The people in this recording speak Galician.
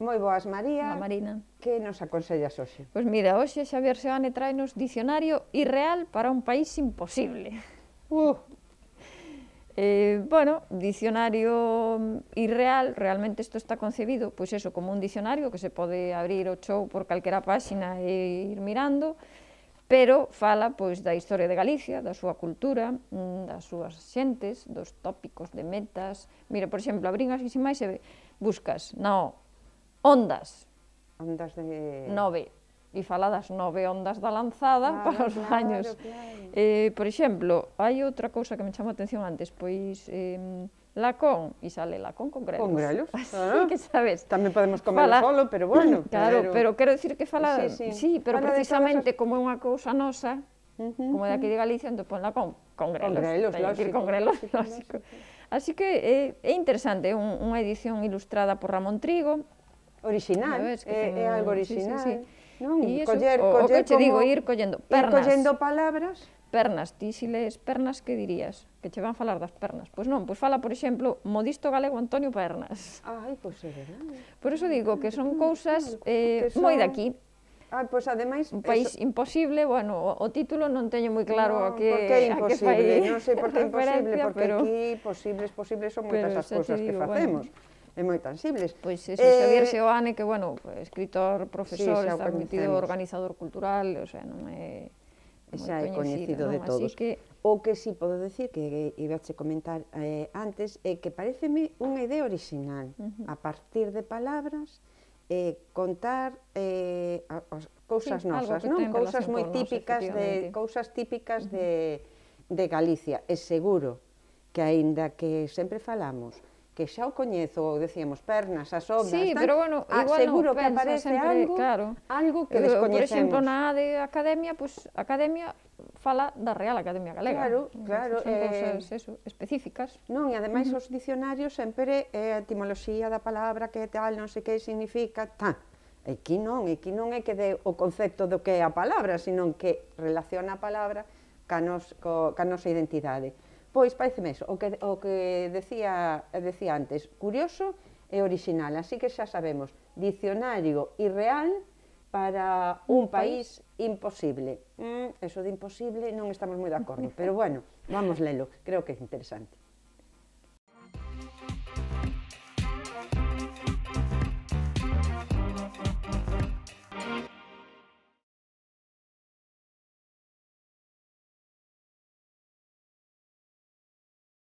Moi boas, María. Hola, Marina. Que nos aconsellas hoxe? Pois mira, hoxe Xavier Seoane traenos Dicionario irreal para un país imposible. Bueno, dicionario irreal, realmente isto está concebido, pois eso, como un dicionario que se pode abrir o chou por calquera páxina e ir mirando, pero fala pois da historia de Galicia, da súa cultura, das súas xentes, dos tópicos, de metas. Mira, por exemplo, abrín así sin máis e buscas, ondas. Ondas de... 9. E fala das 9 ondas da lanzada para os años. Por exemplo, hai outra cousa que me chamou a atención antes, pois lacón, e sale lacón con grelos. Con grelos? Así que sabes. Tamén podemos comelo solo, pero bueno. Claro, pero quero dicir que fala... Sí, pero precisamente como é unha cousa nosa, como de aquí de Galicia, entón pon lacón con grelos. Con grelos, lógico. Con grelos, lógico. Así que é interesante, é unha edición ilustrada por Ramón Trigo. Original, é algo original. E iso, o que che digo, ir collendo pernas. Ir collendo palabras. Pernas, ti se lees pernas, que dirías? Que che van falar das pernas. Pois non, pois fala, por exemplo, Modisto Galego Antonio Pernas. Ai, pois é verdade. Por iso digo que son cousas moi daqui. Pois ademais... Un país imposible, bueno, o título non teño moi claro a que fai... Porque é imposible, non sei por que é imposible, porque aquí posibles son moitas as cousas que facemos. É moi tangibles. Pois eso, Xavier Seoane, que, bueno, escritor, profesor, está metido organizador cultural, o sea, non é xa é coñecido de todos. O que si podo decir, que ibache comentar antes, é que pareceme unha idea original, a partir de palabras, contar cousas nosas, non? Cousas moi típicas, cousas típicas de Galicia. É seguro que, aínda que sempre falamos que xa o coñezo, ou decíamos pernas, as ondas, pero bueno, igual seguro que aparece algo que descoñecemos. Por exemplo, na de Academia, pois Academia fala da Real Academia Galega. Claro. Son cousas específicas. Non, e ademais os dicionarios sempre é a etimoloxía da palabra, que tal, non sei que significa, Aquí non é que dé o concepto do que é a palabra, sino que relaciona a palabra ca nosa identidade. Pois pareceme eso, o que decía antes, curioso e original, así que xa sabemos, dicionario irreal para un país imposible. Eso de imposible non estamos moi de acordo, pero bueno, vamos lelo, creo que é interesante.